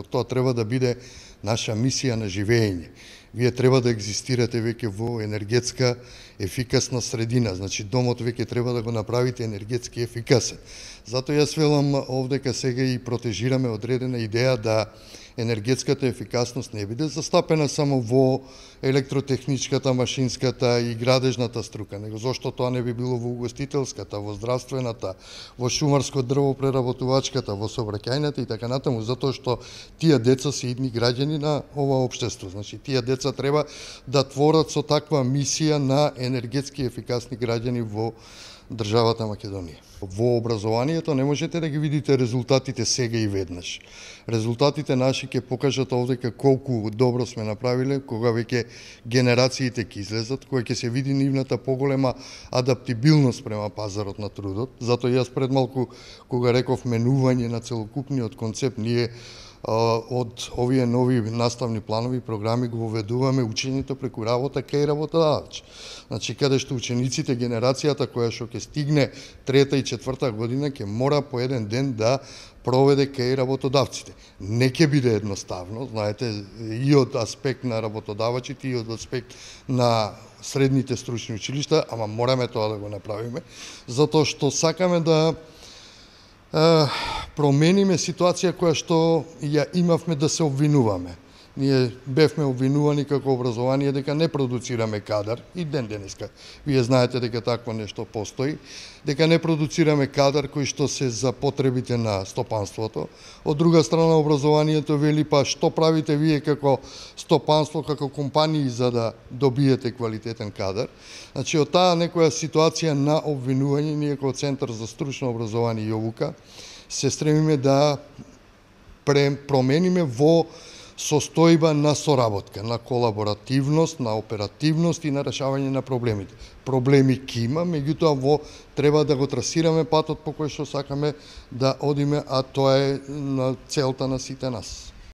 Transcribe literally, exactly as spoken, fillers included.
Тоа треба да биде наша мисија на живење. Вие треба да екзистирате веќе во енергетска ефикасна средина, значи домот веќе треба да го направите енергетски ефикасен. Затоа јас велам овдека сега и протежираме одредена идеја да енергетската ефикасност не биде застапена само во електротехничката, машинската и градежната струка, него зошто тоа не би било во угостителската, во здравствената, во шумарско дрвопреработувачката, во сообраќајната и така натаму, затоа што тие деца се идни граѓани на ова општество. Значи тие деца треба да творат со таква мисија на енергетски ефикасни граѓани во државата Македонија. Во образованието не можете да ги видите резултатите сега и веднаш. Резултатите наши ќе покажат овдека колку добро сме направиле, кога веќе генерациите ќе излезат, кога ќе се види нивната поголема адаптибилност према пазарот на трудот. Затоа јас пред малку, кога реков менување на целокупниот концепт, ние од овие нови наставни планови програми го воведуваме учењето преку работа кај работодавач. Значи, каде што учениците, генерацијата која што ќе стигне трета и четврта година, ќе мора по еден ден да проведе кај работодавците. Не ќе биде едноставно, знаете, и од аспект на работодавачите, и од аспект на средните стручни училишта, ама мораме тоа да го направиме, затоа што сакаме да промениме ситуација која што ја имавме да се обвинуваме. Ние бевме обвинувани како образование дека не продуцираме кадар, и ден денеска. Вие знаете дека такво нешто постои, дека не продуцираме кадар кој што се за потребите на стопанството. Од друга страна, образованието вели, па што правите вие како стопанство, како компании за да добиете квалитетен кадар. Значи, од таа некоја ситуација на обвинување, ние како Центар за стручно образование и обука се стремиме да промениме во состојба на соработка, на колаборативност, на оперативност и на решавање на проблемите. Проблеми ќе има, меѓутоа во треба да го трасираме патот по кој што сакаме да одиме, а тоа е на целта на сите нас.